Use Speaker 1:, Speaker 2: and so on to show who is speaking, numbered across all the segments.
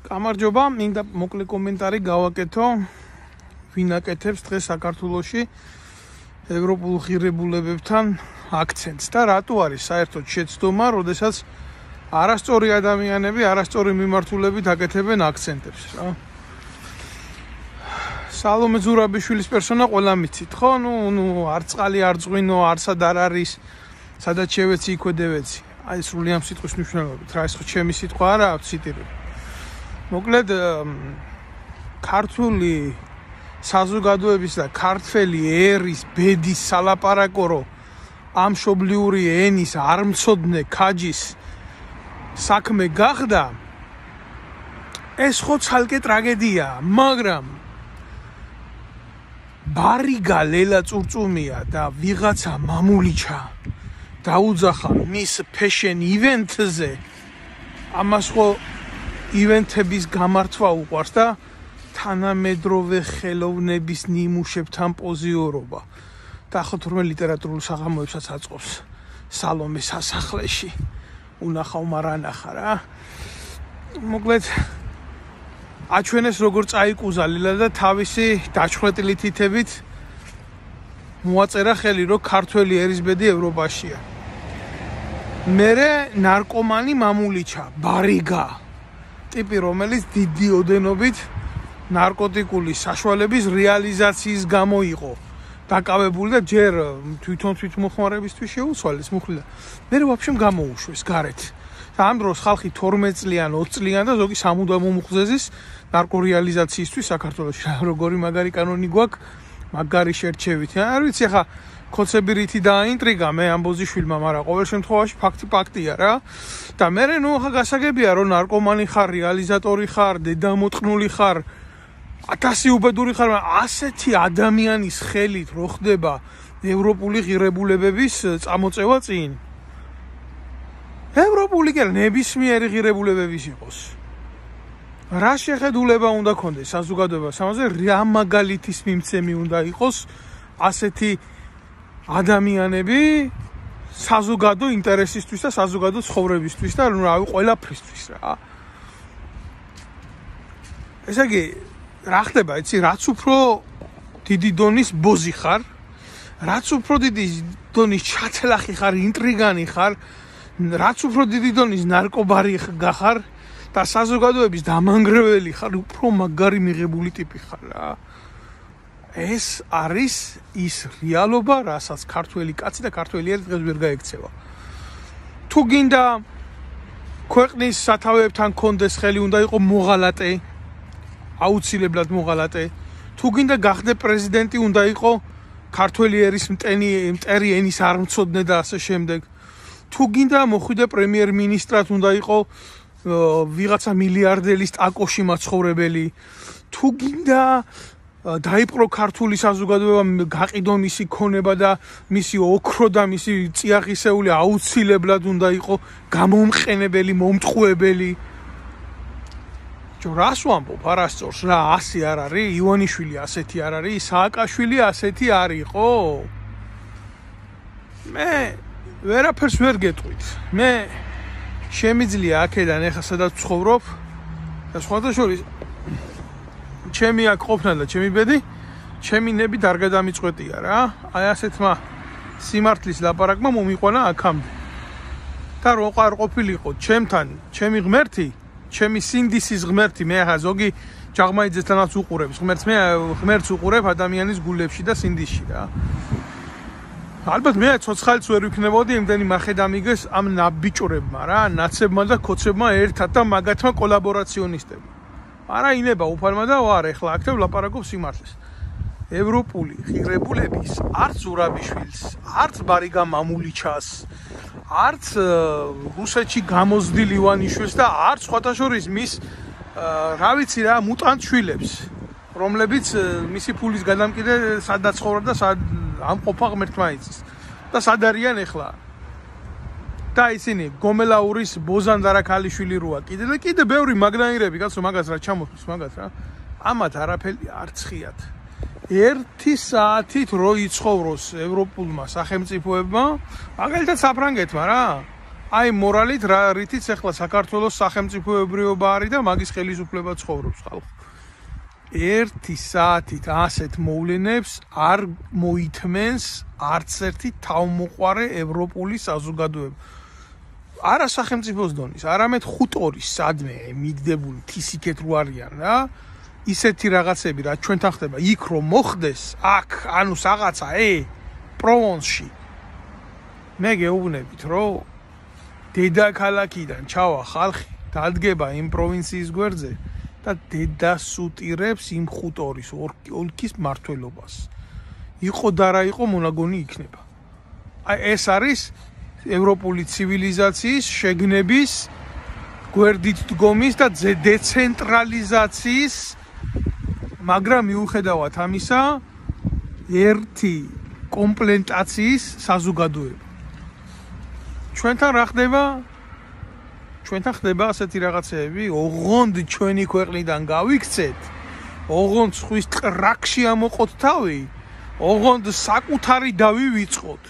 Speaker 1: გამარჯობა, მინდა მოკლე კომენტარი გავაკეთო, ვინ აკეთებს დღეს საქართველოში ევროპულ ღირებულებებთან აქცენტს და რატო არის საერთოდ შეცდომა, როდესაც არასწორი ადამიანები, არასწორი მიმართულებით აკეთებენ აქცენტებს, რა. სალომე ზურაბიშვილის პერსონა ყველა მიცით, ხო? ნუ არ წყალი არ წვინო, არსად არ არის, სადაც შევეცი იქვე დევეცი. აი სრული ამ სიტყვის მნიშვნელობით, რა ეს ხო ჩემი სიტყვა არა, ციტირებ. მოკლედ ქართული საზოგადოების და ქართველი ერის ბედის სალაპარაკო ამ მშობლიური ენის არ მცოდნე ქაჯის საქმე გახდა ეს ხო ცალკე ტრაგედიაა, მაგრამ ბარიგა ლელა წურწუმია და ვიღაცა მამულიჩა დაუძახა მის ფეშენ ივენთზე ამას ხო ივენთების გამართვა უყვარს და თანამედროვე ხელოვნების ნიმუშებთან პოზიორობა და ხო თურმე ლიტერატურულ საღამოებსაც აწყობს სალომე სასახლეში უნახავ მარანახა რა მოკლედ აჩვენეს როგორ წაიკუზა ლილა და თავისი დაჩხვრეტილი თითებით მოაწერა ხელი რომ ქართველი ერისბედი ევროპაშია მერე ნარკომანი მამულიჩა ბარიგა ტიპი რომელიც დიდი ოდენობით ნარკოტიკული საშუალების რეალიზაციის გამო იყო დაკავებული და ჯერ თვითონ თვითმოხმარებისთვის შეუცვალეს მუხლი და მე ვაფშემ გამოუშვეს გარეთ და ამ დროს ხალხი 12 წლიან 20 წლიან და ზოგი სამუდამო მუხზეზის ნარკორეალიზაციისთვის საქართველოში როგორი მაგარი კანონი გვაქვს მაგარი შერჩევით არ ვიცი ხა ქოცები რითი დააინტრიგა მე ამბოზიშვილმა მაგრამ ყოველ შემთხვევაში ფაქტია რა და მე ნუ ხა გასაგებია რომ ნარკომანი ხარ რეალიზატორი ხარ დედამოწყნული ხარ 1000 უბედური ხარ ასეთი ადამიანის ხელით რო ხდება ევროპული ღირებულებების წამოწევა წინ ევროპული კი ნებისმიერი ღირებულებების იყოს რა შეხედულება უნდა ქონდეს საზოგადოებას ამაზე რა მაგალითის მიმცემი უნდა იყოს ასეთი ადამიანები საზოგადო ინტერესისთვის და საზოგადო ცხოვრებისთვის და ნუ რავი ყველაფრისთვის რა ესე იგი რა ხდება იცი რაც უფრო დიდი დონის ბოზი ხარ რაც უფრო დიდი დონის ჩათლახი ხარ ინტრიგანი ხარ რაც უფრო დიდი დონის ნარკობარი გახარ და საზოგადოების დამანგრეველი ხარ უფრო მაგარი მიღებული ტიპი ხარ რა ეს არის ის რეალობა რასაც ქართველი კაცი და ქართველი ერი დღეს ვერ გაექცევა თუ გინდა ქვეყნის სათავეებთან კონდეს ხელი უნდა იყო მოღალატე აუცილებლად მოღალატე თუ გინდა გახდე პრეზიდენტი უნდა იყო ქართველი ერის მტერი ენის არ მცოდნე და ასე შემდეგ თუ გინდა მოხვიდე პრემიერ-მინისტრად უნდა იყო ვიღაცა მილიარდელის ტაკოში მაცხოვრებელი თუ გინდა დაიპყრო ქართული საზოგადოება გაყიდო მისი ქონება და მისი ოქრო და მისი წიაღისეული აუცილებლად უნდა იყო გამომყენებელი მომტყუებელი რას ვამბობ არასწორს რა ასე არ არის ივანიშვილი ასეთი არ არის სააკაშვილი ასეთი არ იყო მე ვერაფერს ვერ გეტყვით მე შემიძლია აქედან ეხლა სადაც ვცხოვრობ და სხვადასხვა ჩემი აქ ყოფნა და ჩემი ბედი ჩემი ნები დარგა დამიწყვეტია რა აი ასეთმა სიმართლის ლაპარაკმა მომიყვანა აქამდე და რო არ ყოფილიყო ჩემთან ჩემი ღმერთი ჩემი სინდისის ღმერთი მე ახლა ზოგი ჯაღმაიძესთანაც უყურებს ღმერთს მე ღმერთს უყურებ ადამიანის გულებში და სინდისში რა ალბათ მე ცოცხალიც ვერ ვიქნებოდი იმდენი მახედამიგეს ამ ნაბიჭურებმა რა ნაცებმა და ქოცებმა ერთად და მაგათმა კოლაბორაციონისტებმა არა ინება უფალმა და ვარ ეხლა აქ ვლაპარაკობ სიმართლეს ევროპული ღირებულების არც ზურაბიშვილს არც ბარიგა მამულიჩას არც რუსეთში გამოზრდილ ივანიშვილს და არც სხვათაშორის მის რა ვიცი რა მუტანტ შვილებს რომლებიც მისი ფულის გადამკიდე სადაც ცხოვრობ და ამყოფა ღმერთმა იცის და სად არიან ეხლა და ისინი გომელაურის ბოზან დარაქალიშვილი როა კიდე ბევრი მაგნაირები კაცო მაგას რა ჩამოხვის მაგას რა ამათ არაფერი არ ცხიათ 1 საათით რო იცხოვროს ევროპულმა სახელმწიფოებმა მაგალითად საფრანგეთმა რა აი მორალით რითიც ახლა საქართველოს სახელმწიფოებრიობა არის და მაგის ხელისუფლება ცხოვრობს ხალხი. 1 საათით ასეთ მოვლენებს არ მოითმენს არც ერთი თავმოყარე ევროპული საზოგადოება. არა სახელმწიფოს დონის, არამედ ხუტორის სადმე მიგდებული თისიქეთ რო არიან რა. ისეთი რაღაცები რა ჩვენთან ხდება, იქ რომ მოხდეს, აქ ანუ რაღაცა პროვონსში. მე გეუბნებით, რომ დედაქალაქიდან ჩავა ხალხი, დადგება იმ პროვინციის გვერდზე და დედასუტირებს იმ ხუტორის ოლქის მმართველობას. იყო და რა იყო მონაგონი იქნება. აი ეს არის ევროპული ცივილიზაციის შეგნების გვერდით დგომის და დეცენტრალიზაციის, მაგრამ მიუხედავად ამისა, ერთი კომპლენტაციის საზოგადოება. ჩვენთან რა ხდება? ჩვენთან ხდება ასეთი რაღაცეები, ოღონდ ჩვენი ქვეყნიდან გავიქცეთ, ოღონდ ხვის ტრაქში ამოყოთ თავი, ოღონდ საკუთარი დავივიწყოთ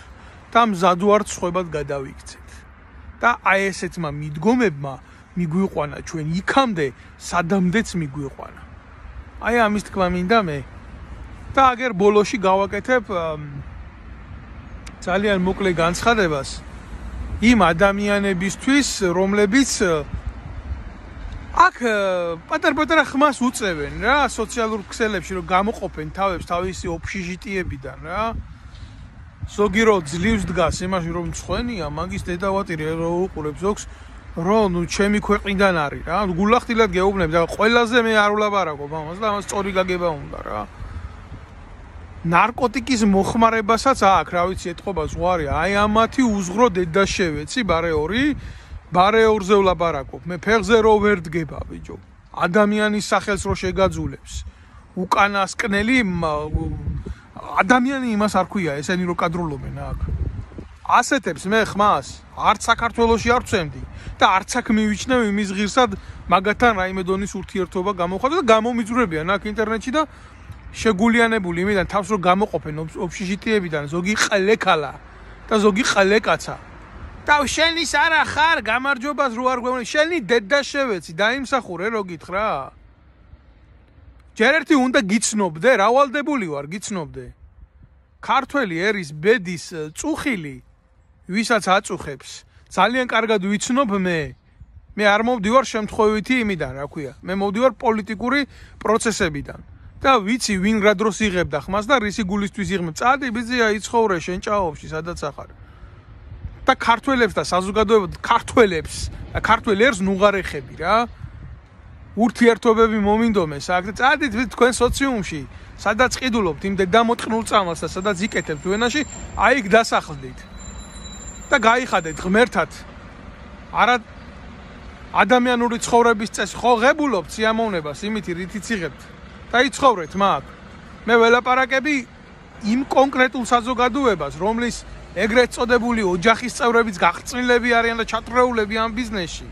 Speaker 1: და მზად ვართ სხვებად გადავიქცეთ. და აი ესეთმა მიდგომებმა მიგვიყვანა ჩვენ იქამდე, სადამდეც მიგვიყვანა. აი ამის თქმა მინდა მე. და აგერ ბოლოში გავაკეთებ ძალიან მოკლე განცხადებას იმ ადამიანებისთვის, რომლებიც აქ პატარ-პატარა ხმას უწევენ რა, სოციალურ ქსელებში რომ გამოყოფენ თავებს თავისი ოფშიჟიტიებიდან რა. ზოგი რო ძლივს დგას იმაში რომ მცხენია, მაგის დედავატირი რო უყურებს ზოგს, რომ ნუ ჩემი ქვეყნიდან არის რა. გულახდილად გეუბნებ და ყველაზე მე არ ვლაპარაკობ ამას და ამას სწორი გაგება უნდა რა. ნარკოტიკის მოხმარებასაც აქ, რა ვიცი, ეთყობა ზღვარი, აი ამათი უზღრო დედაშევეცი ბარე 2-ზე ვლაპარაკობ. მე ფეხზე რო ვერ დგება, ბიჭო. ადამიანის სახელს რო შეგაძულებს. უკანასკნელი ადამიანი იმას არ ქვია, ესენი რო კადრულობენ აქ. ასეთებს მე ხმას არც საქართველოში არ ვცემდი და არც აქ მივიჩნევ იმის ღირსად მაგათთან რაიმე დონის ურთიერთობა გამოხატო და გამომიძვრებიან აქ ინტერნეტში და შეგულიანებული იმიდან თავს რო გამოყოფენ ოფშიჟიტიებიდან ზოგი ყლეკალა და ზოგი ყლეკაცა და შენის არა ხარ გამარჯობას რო არ გვეუბნები შენი დედაშევეცი დაიმსახურე რო გითხრა ჯერ ერთი უნდა გიცნობდე რავალდებული ვარ გიცნობდე ქართველი ერის ბედის წუხილი ვისაც აწუხებს ძალიან კარგად ვიცნობ მე არ მოვდივარ შემთხვევითი იმიდან რა ქვია მე მოვდივარ პოლიტიკური პროცესებიდან და ვიცი ვინ რა დროს იღებდა ხმას და რისი გულისთვის იღებ წადი ბიზია იცხოვრე შენ ჭაობში სადაც ახარ და ქართველებს და საზოგადოებად ქართველებს და ქართველ ერს ნუღარეხები რა ურთიერთობები მომინდომეს აქ და წადით თქვენ სოციუმში სადაც ყიდულობთ იმ დედამოტყნულ წამალს და სადაც იკეთებთ ვენაში აი იქ დასახლდით და გაიხადეთ ღმერთად არა ადამიანური ცხოვრების წესი ხო ღებულობთ სიამოვნებას იმით რითიც იღებთ და იცხოვრეთ მაგ მე ველაპარაკები იმ კონკრეტულ საზოგადოებას რომლის ეგრეთ წოდებული ოჯახის წევრებიც გაღწმილები არიან და ჩათრეულები ამ ბიზნესში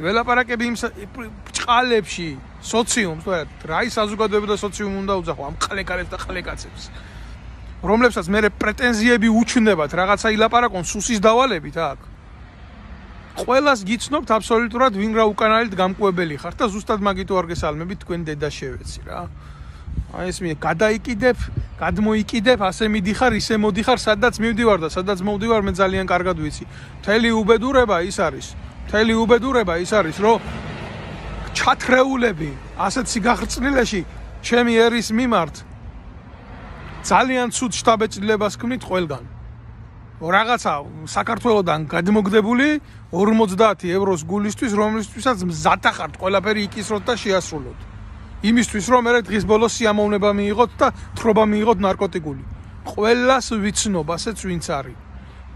Speaker 1: ველაპარაკები იმ ბრჭყალებში სოციუმს რა ის საზოგადოება და სოციუმი უნდა უძახო ამ ყლეკარებს და ყლეკაცებს რომლებსაც მე პრეტენზიები უჩნდებათ რაღაცა ილაპარაკონ სუსის დავალებით აქ ყველას გიცნობთ აბსოლუტურად ვინ რა უკანალით გამკვებელი ხართ და ზუსტად მაგით ვარ გესალმებით თქვენ დედაშევეცი რა აი ეს მე გადაიკიდებ გადმოიკიდებ ასე მიდიხარ ისე მოდიხარ სადაც მივდივარ და სადაც მოვდივარ მე ძალიან კარგად ვიცი მთელი უბედურება ის არის რომ ჩათრეულები ასეთ სიგაღრწნილეში ჩემი ერის მიმართ ძალიან ცუდ შთაბეჭდილებას ქმნით ყველგან რაღაცა საქართველოსდან გადმოგდებული 50 ევროს გულისთვის რომლისთვისაც მზად ახართ ყველაფერი იკისროთ და შეასრულოთ იმისთვის რომ მე დღის ბოლოს სიამოვნება მიიღოთ და თხრობა მიიღოთ ნარკოტიკული ყველას ვიცნობ ასეც ვინც არის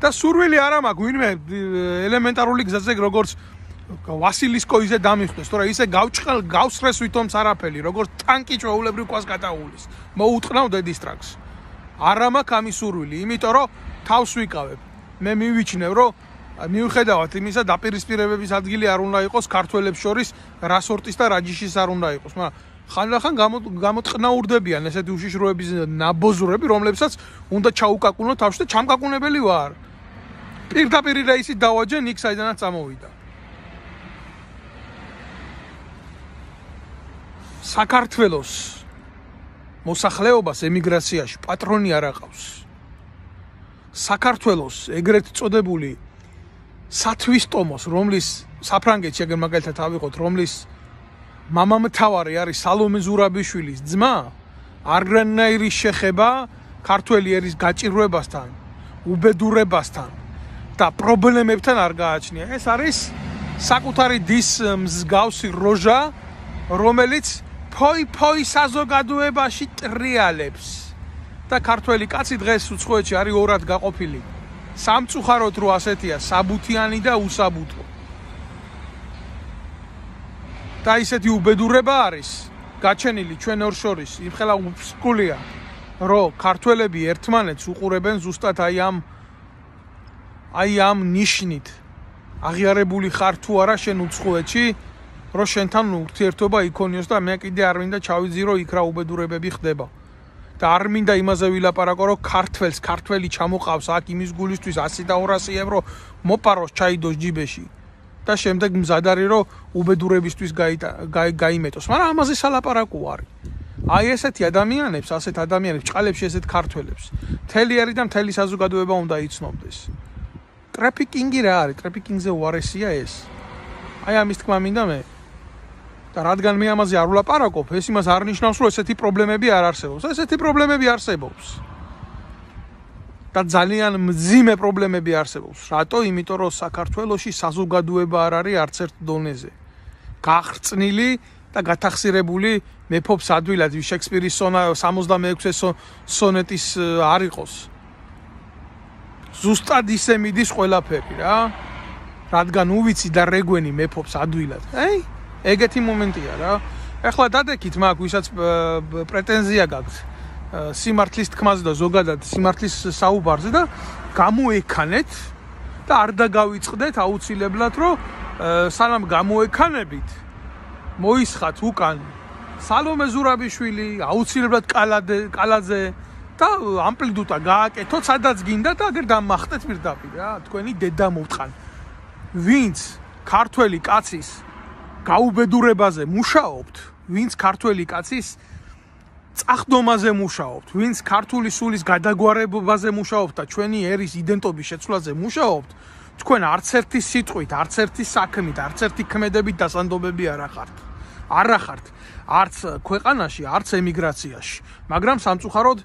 Speaker 1: და სურვილი არა მაქვს ვინმე ელემენტარული გზაზე როგორც ვასილის კოიზე დამიხდეს თორე ისე გავჭრეს ვითომც არაფერი როგორც ტანკი ჩვეულებრივ ქვას გადაუვლის მოუტყნავ დედის ტრაქს არა მაქვს ამის სურვილი იმიტომ რომ თავს ვიკავებ მე მივიჩნევ რომ მიუხედავად იმისა დაპირისპირებების ადგილი არ უნდა იყოს ქართველებს შორის რა სორტის და რა ჯიშის არ უნდა იყოს მაგრამ ხანდახან გამოტყნაურდებიან ესეთი უშიშროების ნაბოზრები რომლებსაც უნდა ჩაუკაკუნო თავში და ჩამკაკუნებელი ვარ პირდაპირ რეისით დავაჯენ იქ საიდანაც წამოვიდა. საქართველოს მოსახლეობას ემიგრაციაში პატრონი არ აყავს. საქართველოს ეგრეთ წოდებული სათვისტომოს, რომლის საფრანგეთში ეგერ მაგალითად ავიღოთ, რომლის მამამთავარი არის სალომე ზურაბიშვილის ძმა, არანაირი შეხება ქართველი ერის გაჭირვებასთან, უბედურებასთან და პრობლემებთან არ გააჩნია. ეს არის საკუთარი დის მსგავსი როჟა, რომელიც ფოი საზოგადოებაში ტრიალებს და ქართველი კაცი დღეს უცხოეთში არის ორად გაყოფილი. სამწუხაროდ რო ასეთია, საბუთიანი და უსაბუთო. და ისეთი უბედურება არის გაჩენილი ჩვენ ორ შორის, იმხელა უსკულია, რომ ქართველები ერთმანეთს უყურებენ ზუსტად აი ამ ნიშნით. აღიარებული ხარ თუ არა შენ უცხოეთში, რომ შენთან ურთიერთობა იქონიოს და მე კიდე არ მინდა ჩავიძირო იქ რა უბედურებები ხდება. და არ მინდა იმაზე ვილაპარაკო, რომ ქართველი ჩამოყავს აქ იმის გულისთვის 100 და 200 ევრო მოპაროს ჩაიდოს ჯიბეში და შემდეგ მზად არის, რომ უბედურებისთვის გაიმეტოს. მაგრამ ამაზე სალაპარაკო არის. აი ესეთი ადამიანებს, ასეთ ადამიანებს ჭყალებში ესეთ ქართველებს მთელი ერი და მთელი საზოგადოება უნდა იცნობდეს. ტრაფიკინგი რა არის? ტრაფიკინგზე უარესია ეს. აი ამის თქმა მინდა მე. და რადგან მე ამაზე არ ვლაპარაკობ, ეს იმას არ ნიშნავს, რომ ესეთი პრობლემები არ არსებობს. ესეთი პრობლემები არსებობს. და ძალიან მძიმე პრობლემები არსებობს. რატო? იმიტომ რომ საქართველოში საზოგადოება არ არის არც ერთ დონეზე. გახრწნილი და გათახსირებული მეფობს ადვილად შექსპირის 66 სონეტის არ იყოს. ზუსტად ისე მიდის ყველაფერი რა. რადგან უვიცი და რეგვენი მეფობს ადვილად. ეგეთი მომენტია რა. ეხლა დადექით მაგ ვისაც პრეტენზია გაქვთ სიმართლის თქმაზე და ზოგადად სიმართლის საუბარზე და გამოექანეთ და არ დაგავიწყდეთ აუცილებლად, რომ სანამ გამოექანებით მოისხათ უკან სალომე ზურაბიშვილი, აუცილებლად კალაძე და ამპლიტუდა გააკეთოთ, სადაც გინდა და აგერ დამახტეთ პირდაპირ რა, თქვენი დედა მოვტყან. ვინც ქართველი კაცის გაუბედურებაზე მუშაობთ, ვინც ქართველი კაცის წახდომაზე მუშაობთ, ვინც ქართული სულის გადაგვარებაზე მუშაობთ და ჩვენი ერის იდენტობის შეცვლაზე მუშაობთ, თქვენ არც ერთი სიტყვით, არც ერთი საქმით, არც ერთი ქმედებით დასანდობები არ ახართ. არც ქვეყანაში, არც ემიგრაციაში. მაგრამ სამწუხაროდ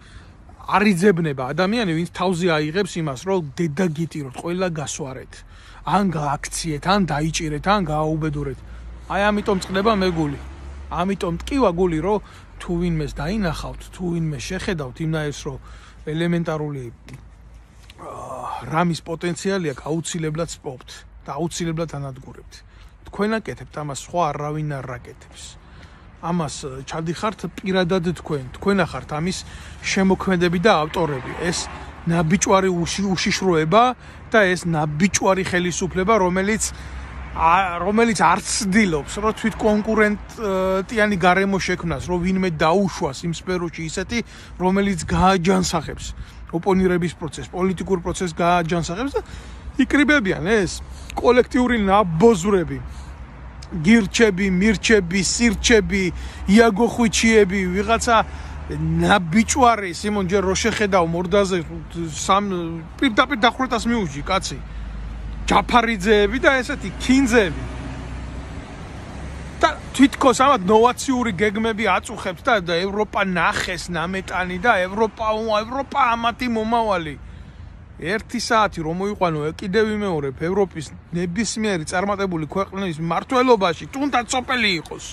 Speaker 1: არ იძებნება ადამიანი, ვინც თავზე აიღებს იმას, რომ დედა გიტიროთ, ყველა გასვარეთ, ან გააქციეთ, ან დაიჭირეთ, ან გააუბედურეთ. აი ამიტომ წყდება მეგული. ამიტომ ტკივა გული, რომ თუ ვინმეს დაინახავთ, თუ ვინმე შეხედავთ იმნაირს, რომ ელემენტარული რამის პოტენციალი აქვს, აუცილებლად სპობთ და აუცილებლად ანადგურებთ. თქვენ აკეთებთ ამას, სხვა არავინ არ აკეთებს. ამას ჩადიხართ პირადად თქვენ ახართ ამის შემოქმედები და ავტორები. ეს ნაბიჭვარი უშიშროება და ეს ნაბიჭვარი ხელისუფლება, რომელიც არც ცდილობს, რომ თვით კონკურენტიანი გარემო შექმნას, რომ ვინმე დაუშვას იმ სფეროში ისეთი, რომელიც გააჯანსაღებს ოპონირების პროცესს, პოლიტიკურ პროცესს გააჯანსაღებს და იკრიბებიან ეს კოლექტიური ნაბოზრები. გირჩები, მირჩები, სირჩები, იაგო ხვიჩიები, ვიღაცა ნაბიჭვარი, სიმონ ჯერ რო შეხედავ მორდაზე პირდაპირ დახვრეტას მიუჯი, კაცი. ჯაფარიძეები და ესეთი ქინძები. და თვითქოს ამათ ნოვაციური გეგმები აწუხებს და ევროპა ნახეს ნამეტანი და ევროპა ამათი მომავალი. 1 საათი რომ მოიყვანო კიდევ ვიმეორებ ევროპის ნებისმიერი წარმატებული ქვეყნის მმართველობაში, თუნდაც სოფელი იყოს.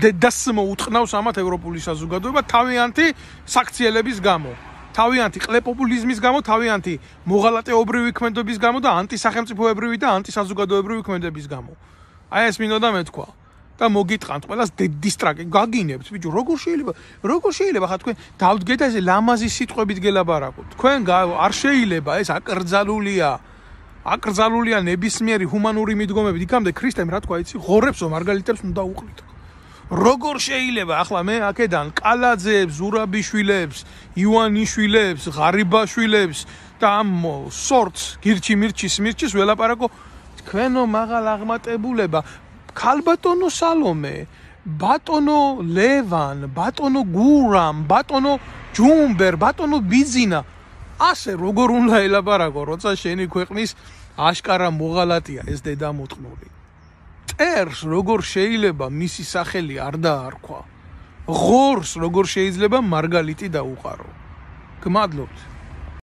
Speaker 1: დედას მოუტყნავს ამათ ევროპული საზოგადოება თავიანთი საქციელების გამო. თავიანთი ყლეპოპულიზმის გამო, თავიანთი მოღალატეობრივი ქმედების გამო და ანტისახელმწიფოებრივი და ანტისაზოგადოებრივი ქმედების გამო. აი ეს მინდოდა მეთქვა. და მოგიტყანთ ყველას დისტრაკი გაგინებთ, ბიჭო, როგორ შეიძლება ხა თქვენ დავდგეთ ეს ლამაზი სიტყვებით გელაბარაკოთ. თქვენ არ შეიძლება ეს აკრძალულია ნებისმიერი ჰუმანური მიდგომებით. იქამდე ქრისტემ რა თქვა იცი, ღორებსო მარგალიტებს უნდა უყრით. როგორ შეიძლება ახლა მე აქედან კალაძეებს, ზურაბიშვილებს, ივანიშვილებს, ღარიბაშვილებს და ამ სორტს გირჩი-მირჩის ველაპარაკო თქვენო მაღალ აღმატებულება ქალბატონო სალომე ბატონო ლევან, ბატონო გურამ, ბატონო ჯუმბერ, ბატონო ბიზინა ასე როგორ უნდა ელაპარაკო როცა შენი ქვეყნის აშკარა მოღალატია ეს დედამოწყნული წერს როგორ შეიძლება მისი სახელი არ დაარქვა ღორს როგორ შეიძლება მარგალიტი დაუყარო გმადლობთ